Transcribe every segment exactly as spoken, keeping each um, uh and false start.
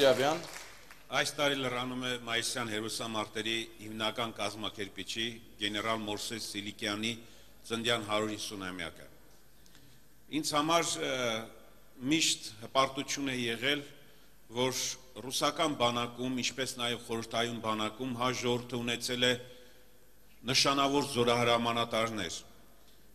Ղուրիաբյան Այս տարի լրանում է Մայիսյան հերոսամարտերի հիմնական կազմակերպիչի գեներալ Մովսես Սիլիկյանի ծննդյան հարյուր հիսունամյակը։ Ինձ համար միշտ հպարտություն է եղել, որ ռուսական բանակում, ինչպես նաև խորհրդային բանակում հայ ժողովուրդը ունեցել է նշանավոր զորահրամանատարներ։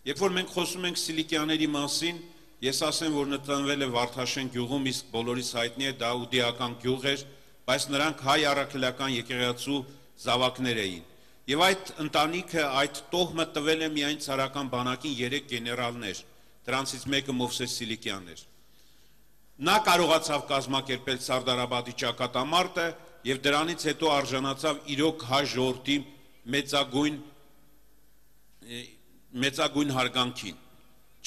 Երբ որ մենք խոսում ենք Սիլիկյանների մասին, ես ասեմ, որ նտնվել է Վարդաշեն գյուղում, իսկ բոլորիս հայտնի է դա ուդիական գյուղ էր, բայց նրանք հայ առաքելական եկեղեցու զավակներ էին։ Եվ այդ ընտանիքը, այդ տոհմը տվել է միայն ցարական բանակին երեք գեներալներ, դրանցից մեկը Մովսես Սիլիկյանն էր։ Նա կարողացավ կազմակերպել Սարդարաբադի ճակատամարտը եւ դրանից հետո արժանացավ իրոք հայ ժողովրդի մեծագույն մեծագույն հարգանքին։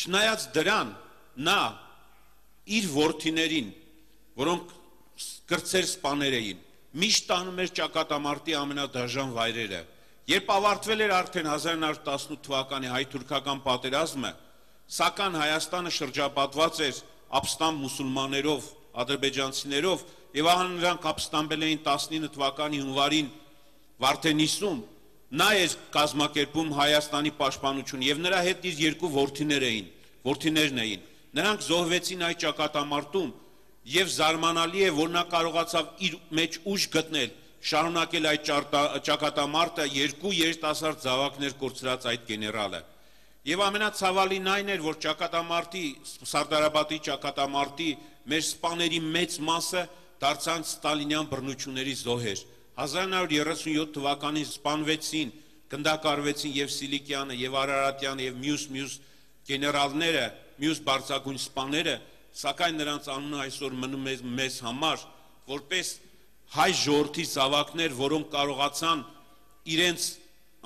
Չնայած դրան, նա իր որդիներին, որոնք կրտսեր սպաներ էին, միշտ տանում էր ճակատամարտի ամենադաժան վայրերը։ Երբ ավարտվել էր արդեն հազար նոր տասնութ թվականի հայ-թուրքական պատերազմը, սակայն Հայաստանը շրջապատված էր ապստամբ մուսուլմաններով, ադրբեջանցիներով, եւ ահա նրանք ապստամբել էին տասնինը թվականի հունվարին Վարդենիսում, նա էր կազմակերպում Հայաստանի պաշտպանություն եւ նրա հետ իր երկու որդիներ էին, որդիներն էին։ Նրանք զոհվեցին այդ ճակատամարտում եւ զարմանալի է, որ նա կարողացավ իր մեջ ուժ գտնել, շարունակել այդ ճակատամարտը, երկու երիտասարդ զավակներ կորցրած այդ գեներալը։ Եվ ամենացավալին այն էր, որ ճակատամարտի, Սարդարաբադի ճակատամարտի մեր սպաների մեծ մասը դարձան ստալինյան բռնությունների զոհեր։ հազար նոր երեսունյոթ թվականին սպանվեցին, գնդակարվեցին եւ Սիլիկյանը, եւ Արարատյանը, եւ մյուս-մյուս գեներալները, մյուս բարձրագույն սպաները, սակայն նրանց անունը այսօր մնում է մեզ համար, որպես հայ ժողովրդի զավակներ, որոնք կարողացան իրենց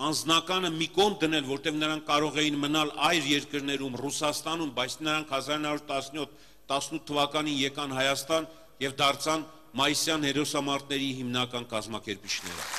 անձնականը մի կողմ դնել, որտեղ նրանք կարող էին մնալ այլ երկրներում, Ռուսաստանում, բայց նրանք հազար նոր տասնյոթ տասնութ թվականին եկան Հայաստան եւ դարձան Մայիսյան հերոսամարտերի հիմնական կազմակերպիչները։